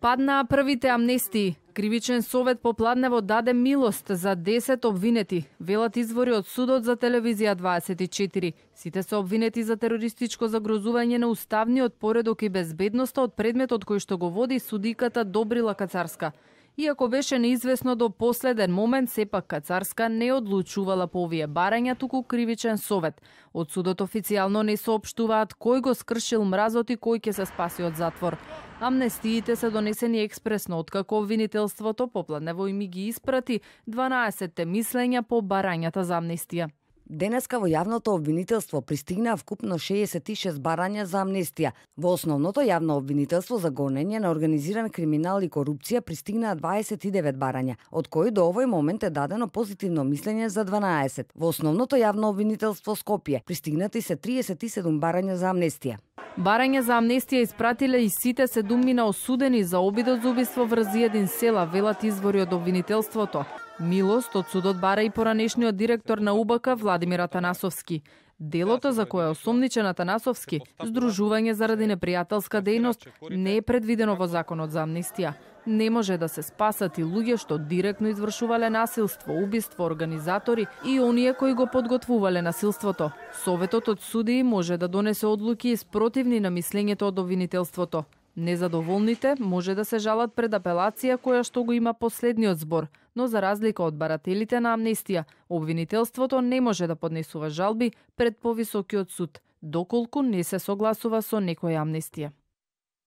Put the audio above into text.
Паднаа првите амнестии. Кривичен совет по Пладнево даде милост за 10 обвинети, велат извори од судот за телевизија 24. Сите се обвинети за терористичко загрозување на уставниот поредок и безбедноста од предметот кој што го води судиката Добрила Кацарска. Иако беше неизвестно до последен момент, сепак Кацарска не одлучувала по овие барања, туку кривичен совет. Од судот официјално не соопштуваат кој го скршил мразот и кој ќе се спаси од затвор. Амнестиите се донесени експресно, откако обвинителството по Пладнево им ги испрати 12 мислења по барањата за амнестија. Денеска во јавното обвинителство пристигнаа вкупно 66 барања за амнестија. Во основното јавно обвинителство за гонење на организиран криминал и корупција пристигнаа 29 барања, од кои до овој момент е дадено позитивно мислење за 12. Во основното јавно обвинителство Скопје пристигнати се 37 барања за амнестија. Барање за амнестија испратиле и сите 7 осудени за обидот за убиство врз 1 села, велат извори од обвинителството. Милост од судот бара и поранешниот директор на УБК Владимир Атанасовски. Делото за кое е осомничен Атанасовски, здружување заради непријателска дејност, не е предвидено во законот за амнестија. Не може да се спасат и луѓе што директно извршувале насилство, убиство, организатори и оние кои го подготвувале насилството. Советот од судии може да донесе одлуки спротивни на мислењето од обвинителството. Незадоволните може да се жалат пред апелација која што го има последниот збор, но за разлика од барателите на амнестија, обвинителството не може да поднесува жалби пред повисокиот суд, доколку не се согласува со некоја амнестија.